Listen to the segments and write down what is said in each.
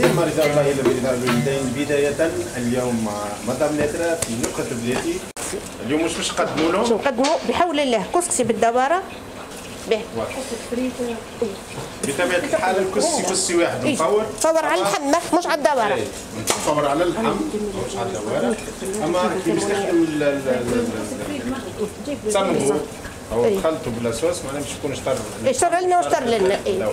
ثم رضا الله الى برضا الوالدين. بداية اليوم مع مدام نادرة في نكهة بلادي. اليوم واش باش نقدموا لهم؟ باش نقدموا بحول الله كسكسي بالدواره. به بطبيعة الحال الكسكسي كسكسي واحد مفور، مفور على اللحم مش على الدواره. مفور على اللحم مش على الدواره. اما كي باش تخدم تصمغوا او تخلطوا ب la sauce معناها باش يكون شطر شطر لنا وشطر لنا. اي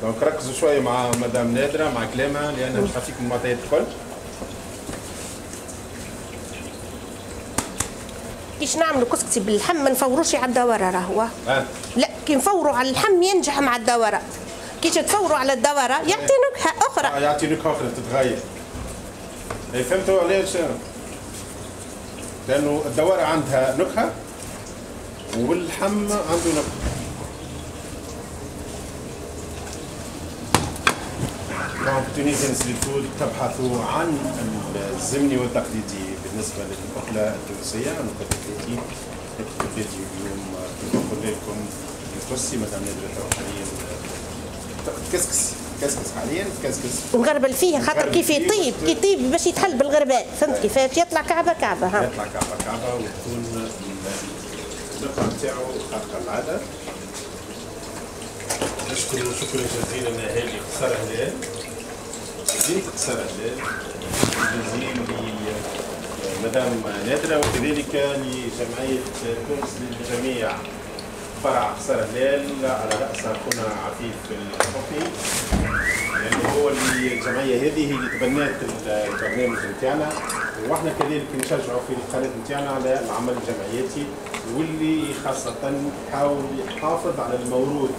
donc ركزوا شوية مع مدام نادرة مع كلامها لانها باش تعطيكم المعطيات الكل. كيش نعملوا كسكسي باللحم ما نفوروش على الدواره راهو. لا كي نفوروا على اللحم ينجح مع الدواره، كيش تفوروا على الدواره يعطي نكهة اخرى. يعطي نكهة اخرى تتغير. اي فهمتوا علاش؟ لانه الدواره عندها نكهة واللحم عنده نكهة. donc Tunisian Street Food تبحث عن الزمني والتقليدي بالنسبة للاكله التونسية. نكهة بلادي، نكهة بلادي اليوم كما قلنا لكم الكسكسي مدام نادرة حاليا كسكس كسكس حاليا كسكس ونغربل فيه خاطر كيف يطيب كي يطيب باش يتحل بالغربال، فهمت كيفاش؟ يطلع كعبه كعبه. ها يطلع كعبه كعبه وتكون النقطة نتاعو خارقة العادة. نشكر شكرا جزيلا هادي قصر هلال، زيت قصر هلال جزيل لمدام نادرة وكذلك لجمعية تونس للجميع فرع قصر هلال على رأس أخونا عفيف الحفي، لأنه هو اللي الجمعية هذه هي اللي تبنات البرنامج نتاعنا، واحنا كذلك نشجعوا في القناة نتاعنا على العمل الجمعياتي واللي خاصة يحاول يحافظ على الموروث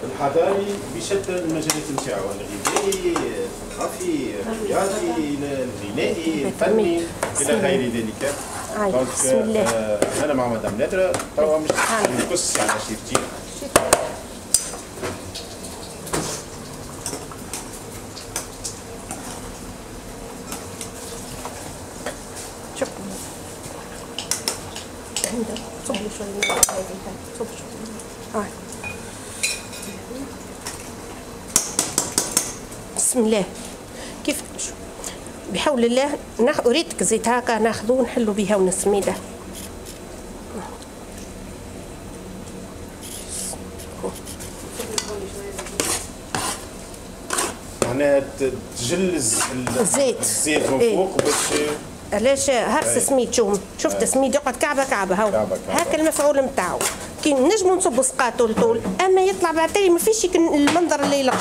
الحضاري بشتى المجالات نتاعو، الغذائي، الثقافي، الرياضي، الغنائي، الفني الى غير ذلك. بسم الله. انا مع مدام نادرة توا مش نقص على شيفتي. شوف عندك صب لي شوية من هذه، صب شوية. بسم الله. كيف بحول الله اريدك زيت هكا ناخذو ونحلو بها ونسميده. معناها تجلز الزيت من فوق باش علاش هرس سميد. شوف شفت سميد يقعد كعبه كعبه، هاو هاك المفعول نتاعو. كي نجمو نصبو سقاط طول طول اما يطلع بعد تالي ما فيش المنظر اللي يلق.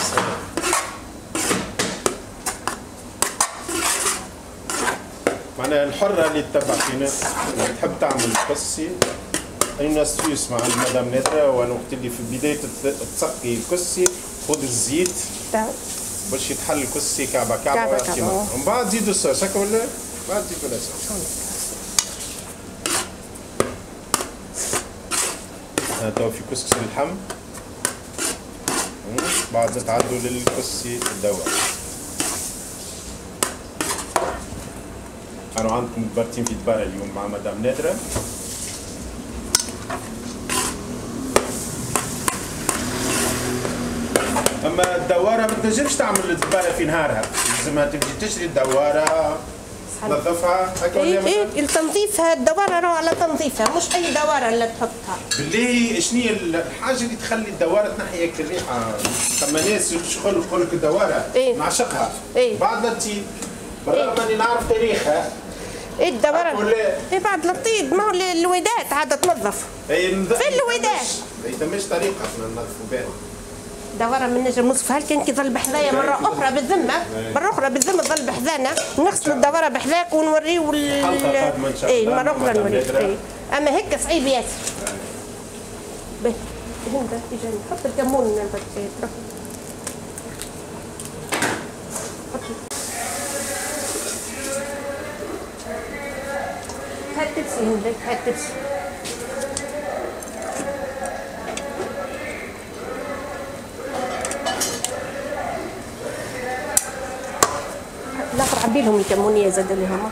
معناها الحرة اللي تتبع فينا اللي تحب تعمل كسكسي une astuce مع المدام نادرة، وانا وقت اللي في بداية تسقي الكسكسي خذ الزيت باش يتحل الكسكسي كعبه كعبه ومن بعد زيدوا الصوص هكا ولا بعد زيدوا الصوص. تو في كسكسي اللحم بعد نتعدوا للكسكسي الدواء. أنا عندكم متبرتين في دبارة اليوم مع مدام نادرة. أما الدوارة ما تنجمش تعمل الدبارة في نهارها، لازمها تمشي تشري الدوارة تنظفها هكا ولا؟ اي التنظيف الدوارة راهو على تنظيفها، مش أي دوارة اللي تحطها. بالله شنو هي الحاجة اللي تخلي الدوارة تنحي هيك الريحة؟ ثم ناس يشغلوا يقول لك الدوارة إيه؟ نعشقها إيه؟ بعد لا تطيب، بالرغم اني نعرف تاريخها. ايه الدوارة ايه بعد الطيب، ما هو الوداد عادة تنظف. اي في الوداد ما ثماش طريقة احنا ننظفوا بها. دوارة من نجم نصفها كان كي ظل بحذايا مرة أخرى بالذمة، مرة أخرى بالذمة تظل بحذانا، نغسلوا الدوارة بحذاك ونوريو اي مرة أخرى نوريو. إيه. أما هيك صعيب ياسر. باهي هند اجا نحط الكمون تروح. هات تبسي هندك، هات تبسي. الاخر عبي لهم الكمونيه زاد اللي هما.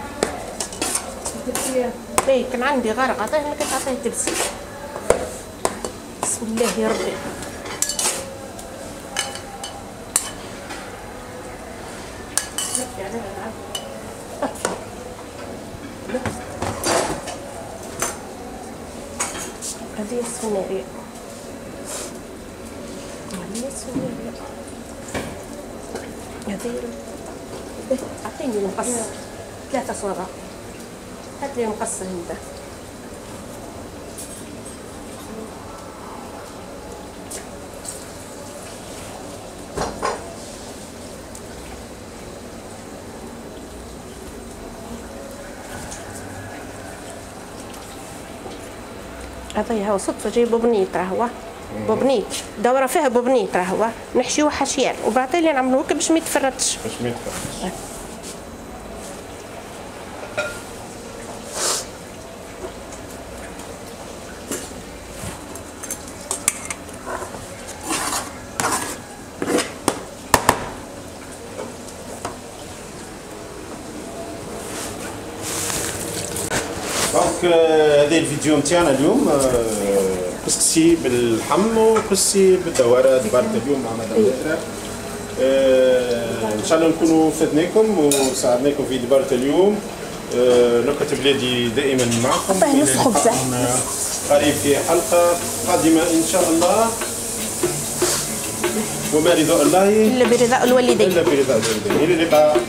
اي كان عندي غرق عطية ما كنت عطية تبسي. بسم الله يا ربي. هذه السفنارية، هذه السفنارية، هذه. أعطيني المقص 3 صوابع، هات لي المقص هنا. هذا هو صدفة جاي بوبنيت، راهو بوبنيت، دورة فيها بوبنيت، راهو نحشيوه حشيان وبعدين نعملوه هكا باش ما يتفرتش. باش ما يتفرتش. donc هذا الفيديو نتاعنا اليوم، كسكسي باللحم وكسكسي بالدواره دبرت اليوم مع مدام نادرة. ان شاء الله نكونوا فدناكم وساعدناكم في دبارة اليوم. نكهة بلادي دائما معكم. نص خبزة قريب في حلقة قادمة ان شاء الله. وما رضاء الله الا برضاء الوالدين. الا برضاء الوالدين. الى اللقاء.